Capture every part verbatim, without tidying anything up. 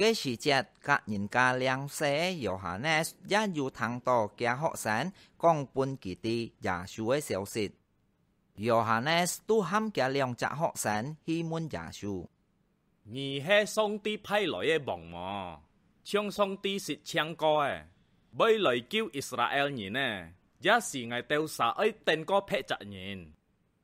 該時節，甲人家領洗个Yohanes也有聽到厥學生講分佢知耶穌个消息。Yohanes都喊厥兩隻學生去問耶穌：「你係上帝派來个王無？像上帝實情講个，會來救Israel人呢，也使𠊎兜儕愛等過別隻人？」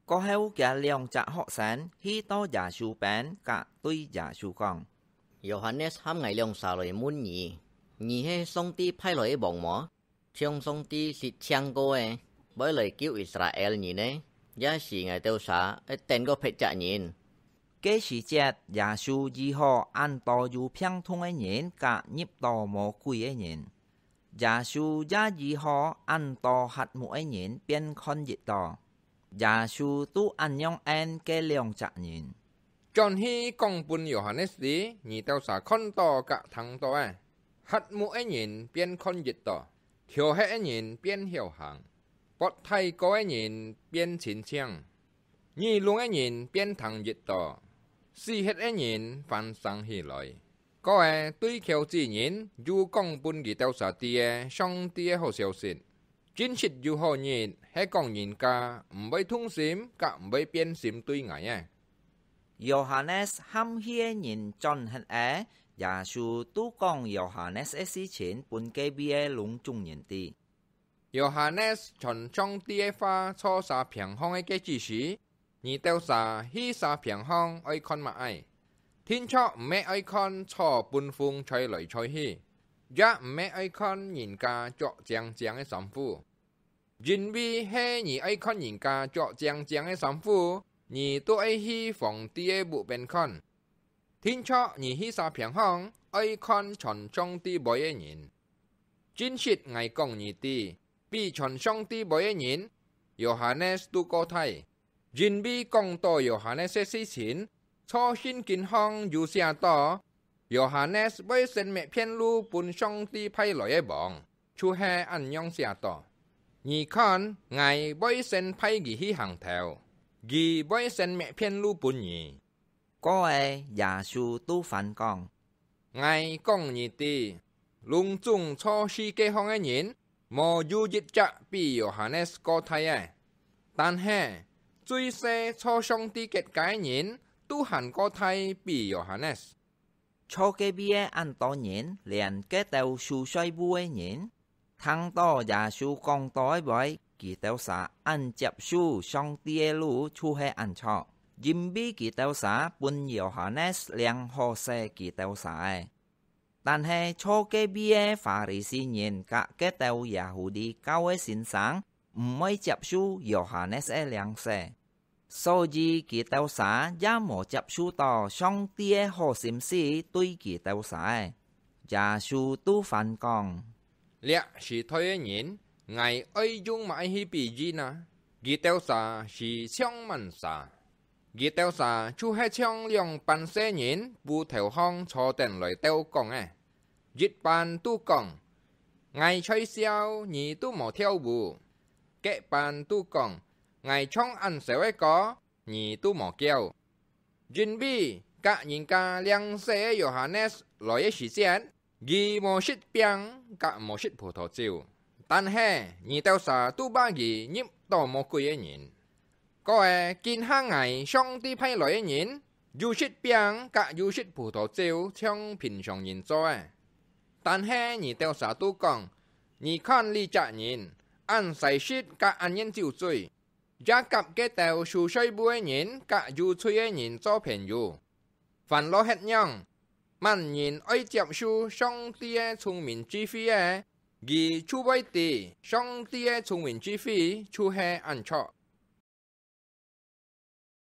過後，厥兩隻學生去到耶穌邊，甲對耶穌講：「Yohanes喊𠊎兩儕來問你，你係上帝派來个王無？像上帝實情講个，會來救Israel人呢，也使𠊎兜儕愛等過別隻人？」該時節，耶穌醫好恁多有病痛个人，甲入到魔鬼个人。 耶穌也醫好恁多瞎目个人，變看得到。耶穌都恁樣應該兩隻人：「轉去講分Yohanes知，你兜儕看到甲聽到个：瞎目个人變看得到，瞟核个人變曉行，發癩哥个人變清淨，耳聾个人變聽得到，死忒个人翻生起來， 過个對敨子人又講分佢兜儕知个上帝个好消息。真實有好日，係講人家毋會痛心，甲毋會變心對𠊎个。」Yohanes喊去个人轉忒了，耶穌都講Yohanes个事情分該位个攏總人知。 Yohanes傳上帝个話做儕平項个該子時，你兜儕去儕平項愛看麼个？定著毋係愛看草分風吹來吹去，也毋係愛看人家著靚靚个衫褲。因為係你愛看人家著靚靚个衫褲，你都愛去皇帝个屋邊看。 定著你去儕平項，愛看傳上帝話个人。真實𠊎講你知，比傳上帝話个人，Yohanes都過大。因為講到Yohanes个事情，在聖經項有寫到，Yohanes會先搣片路分上帝派來个王，就係恁樣寫到：「你看，𠊎會先派佢去行頭，佢會先搣片路分你。」 過个耶穌都還講：「𠊎講你知，攏總在世界項个人，無有一隻比Yohanes過大个。但係，最細在上帝國家个人，都還過大比Yohanes。」在該位个恁多人，連該兜守稅務个人， 聽到耶穌講到个話，佢兜儕恁接受上帝个路就係恁著，因為佢兜儕分Yohanes領好勢佢兜儕个。但係在該位个法利賽人甲該兜Yahudi教个先生，毋會接受Yohanes个領洗。 所以佢兜儕也無接受到上帝个好心思對佢兜儕个。耶穌都還講：「這時代个人，𠊎愛用麼个去比喻呢？佢兜儕係像滿儕，佢兜儕就係像兩班細人，屋頭項坐等來鬥講个。一班都講：『𠊎在笑，你都無跳舞。』 該班都講：『𠊎唱恁愁个歌，你都無噭。』因為甲人家領洗个Yohanes來个時節，佢無食餅，甲無食葡萄酒，但係你兜儕都罵佢入到魔鬼个人。過个，今下𠊎上帝派來个人，有食餅，甲有食葡萄酒，像平常人做个。但係你兜儕都講：『你看這隻人，恁使食甲恁願酒醉， 也甲該兜守稅務个人甲有罪个人做朋友。』還落歇仰，滿人愛接受上帝个聰明智慧个，佢就會知上帝个聰明智慧就係恁著。」